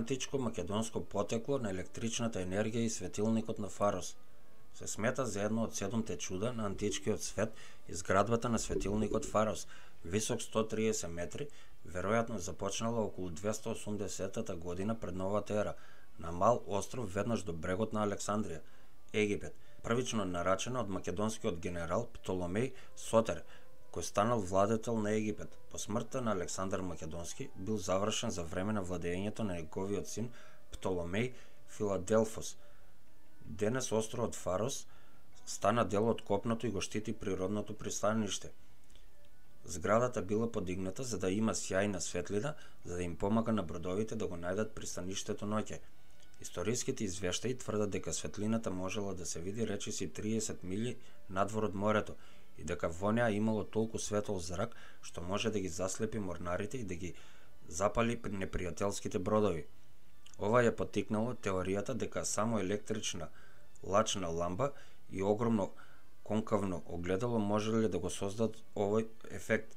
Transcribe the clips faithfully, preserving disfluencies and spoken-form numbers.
античко македонско потекло на електричната енергија и светилникот на Фарос. Се смета за едно од седумте чуда на античкиот свет изградбата на светилникот Фарос, висок сто триесет метри, веројатно започнала околу двесте и осумдесетта година пред новата ера, на мал остров веднаш до брегот на Александрија, Египет, првично нарачена од македонскиот генерал Птоломеј Сотер, кој станал владетел на Египет. По смртта на Александар Македонски бил завршен за време на владењето на неговиот син Птоломеј Филаделфос. Денес островот Фарос стана дел од копното и го штити природното пристаниште. Зградата била подигната за да има сјајна светлина, за да им помага на бродовите да го најдат пристаништето ноќе. Историските извештаи тврдат дека светлината можела да се види речиси триесет милји надвор од морето и дека во неа имало толку светол зрак што може да ги заслепи морнарите и да ги запали непријателските бродови. Ова ја поттикнало теоријата дека само електрична лачна ламба и огромно конкавно огледало можеле да го создадат овој ефект.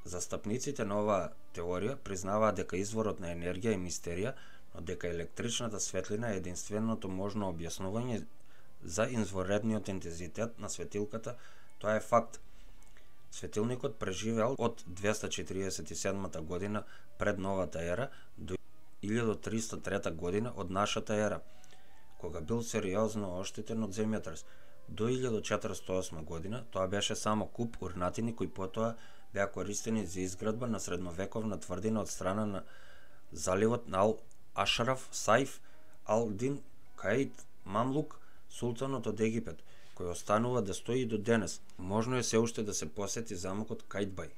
Застапниците на оваа теорија признаваат дека изворот на енергија е мистерија, но дека електричната светлина е единственото можно објаснување за извонредниот интензитет на светилката. Тоа е факт. Светилникот преживеал од двесте четириесет и седма година пред новата ера до илјада триста и трета година од нашата ера, кога бил сериозно оштетен од земјотрес. До илјада четириста и осма година тоа беше само куп урнатини кои потоа беа користени за изградба на средновековна тврдина од страна на заливот на Ал Ашраф Саиф Ал-Дин Каид Мамлук, султанот од Египет, кој останува да стои и до денес. Можно е се уште да се посети замокот Кајдбај.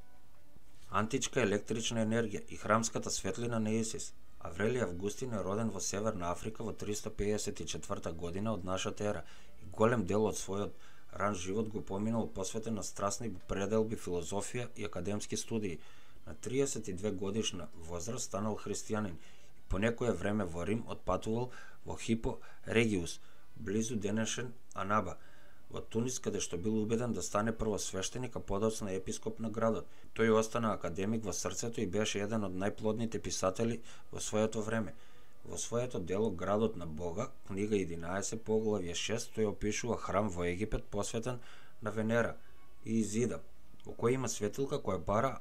Античка електрична енергија и храмската светлина на Исис. Аврелиј Августин е роден во Северна Африка во триста пеесет и четврта година од нашата ера и голем дел од својот ран живот го поминал посветен на страстни пределби, филозофија и академски студии. На триесет и две годишна возраст станал христијанин и по некое време во Рим отпатувал во Хипо Региус, близу денешен Анаба, во Тунис, каде што бил убеден да стане прво свештеник, а подоцна епископ на градот. Тој остана академик во срцето и беше еден од најплодните писатели во своето време. Во своето дело Градот на Бога, книга единаесет, поглавје шест, тој опишува храм во Египет посветен на Венера и Изида, во кој има светилка која бара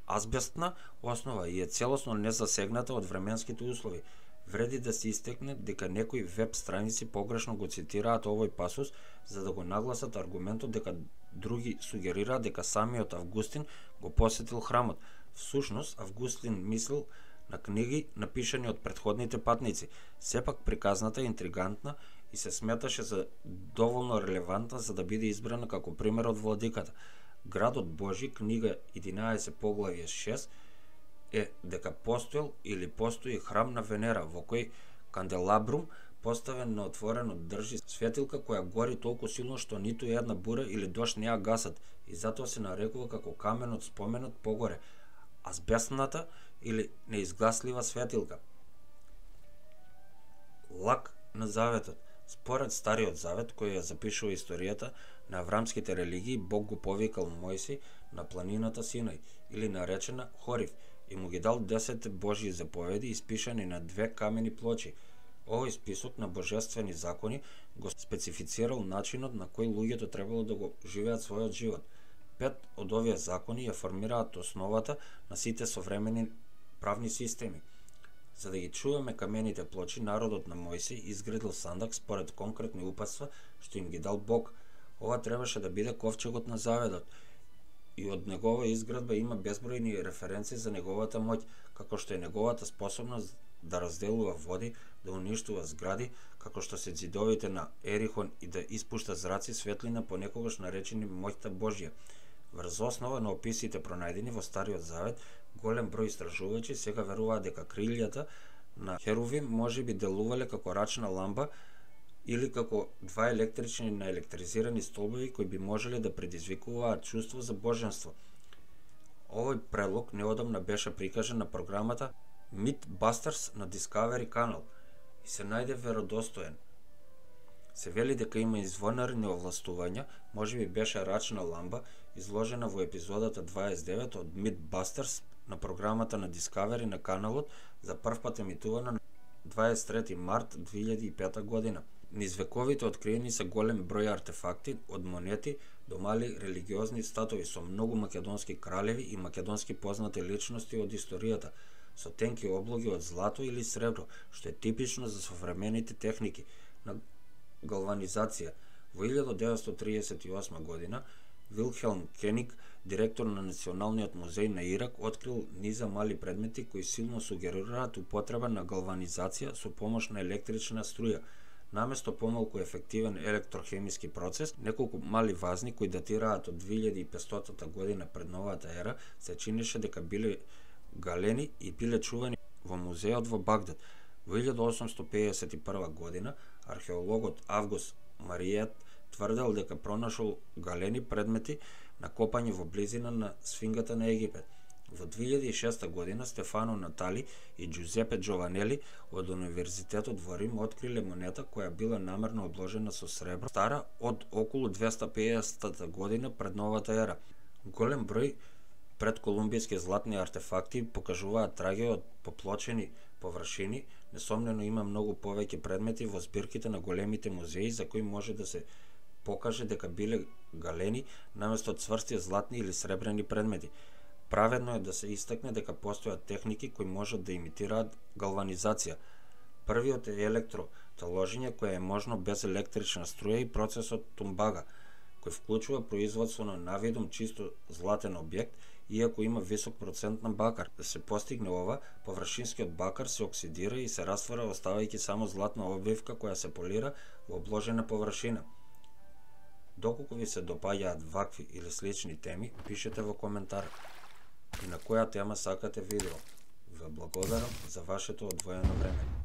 азбестна основа и е целосно незасегната од временските услови. Вреди да се истекне дека некои веб страници погрешно го цитираат овој пасус за да го нагласат аргументот дека други сугерираат дека самиот Августин го посетил храмот. Всушност, Августин мислил на книги напишани од претходните патници. Сепак приказната е интригантна и се сметаше за доволно релевантна за да биде избрана како пример од владиката. Градот Божи, книга единаесет, поглавје шест, е дека постоел или постои храм на Венера, во кој канделабрум поставен на отворено држи светилка која гори толку силно што ниту една бура или дожд не ја гасат и затоа се нарекува како каменот споменот погоре, азбестната или неизгаслива светилка. Лак на заветот. Според Стариот завет, кој ја запишува историјата на аврамските религии, Бог го повикал Мојси на планината Синај, или наречена Хорив, и му ги дал десет Божји заповеди испишани на две камени плочи. Овој список на божествени закони го специфицирал начинот на кој луѓето требало да го живеат својот живот. Пет од овие закони ја формираат основата на сите современи правни системи. За да ги чуваме камените плочи, народот на Мојси изградил сандак според конкретни упатства што им ги дал Бог. Ова требаше да биде ковчегот на заветот. И од негова изградба има безбројни референции за неговата моќ, како што е неговата способност да разделува води, да уништува згради, како што се ѕидовите на Ерихон и да испушта зраци светлина понекогаш наречени моќта Божја. Врз основа на описите пронајдени во Стариот завет, голем број истражувачи сега веруваат дека крилјата на Херувим можеби делувале како рачна ламба или како два електрични наелектризирани столбови кои би можеле да предизвикуваат чувство за боженство. Овој предлог неодамна беше прикажан на програмата Mythbusters на Discovery Channel и се најде веродостоен. Се вели дека има извонарни овластувања, можеби беше рачна ламба, изложена во епизодата дваесет и девет од Mythbusters на програмата на Discovery на каналот, за првпат емитувана на дваесет и трети март две илјади и пета година. Низ вековите откриени се голем број артефакти, од монети до мали религиозни статуи со многу македонски кралеви и македонски познати личности од историјата, со тенки облоги од злато или сребро, што е типично за современите техники на галванизација. Во илјада деветстотини триесет и осма година, Вилхелм Кениг, директор на Националниот музеј на Ирак, открил низа мали предмети кои силно сугерираат употреба на галванизација со помош на електрична струја. Наместо помалку ефективен електрохемиски процес, неколку мали вазни кои датираат од две илјади и петстотина година пред новата ера, се чинеше дека биле галени и биле чувани во музеот во Багдад. Во илјада осумстотини пеесет и прва година, археологот Август Мариет тврдел дека пронашол галени предмети накопани во близина на сфингата на Египет. Во две илјади и шеста година Стефано Натали и Джузепе Джованели од Универзитетот во Рим откриле монета која била намерно обложена со сребро, стара од околу двеста и педесета година пред новата ера. Голем број предколумбијски златни артефакти покажуваат траги од поплочени површини. Несомнено има многу повеќе предмети во збирките на големите музеи за кои може да се покаже дека биле галени наместо цврсти златни или сребрени предмети. Праведно е да се истакне дека постојат техники кои можат да имитираат галванизација. Првиот е електроталожење, кое е можно без електрична струја, и процесот тумбага, кој вклучува производство на навидум чисто златен објект, иако има висок процент на бакар. Да се постигне ова, површинскиот бакар се оксидира и се раствара, оставајќи само златна обвивка која се полира во обложена површина. Доколку ви се допаѓаат вакви или слични теми, пишете во коментар и на која тема сакате видео. Ве благодарам за вашето одвоено време.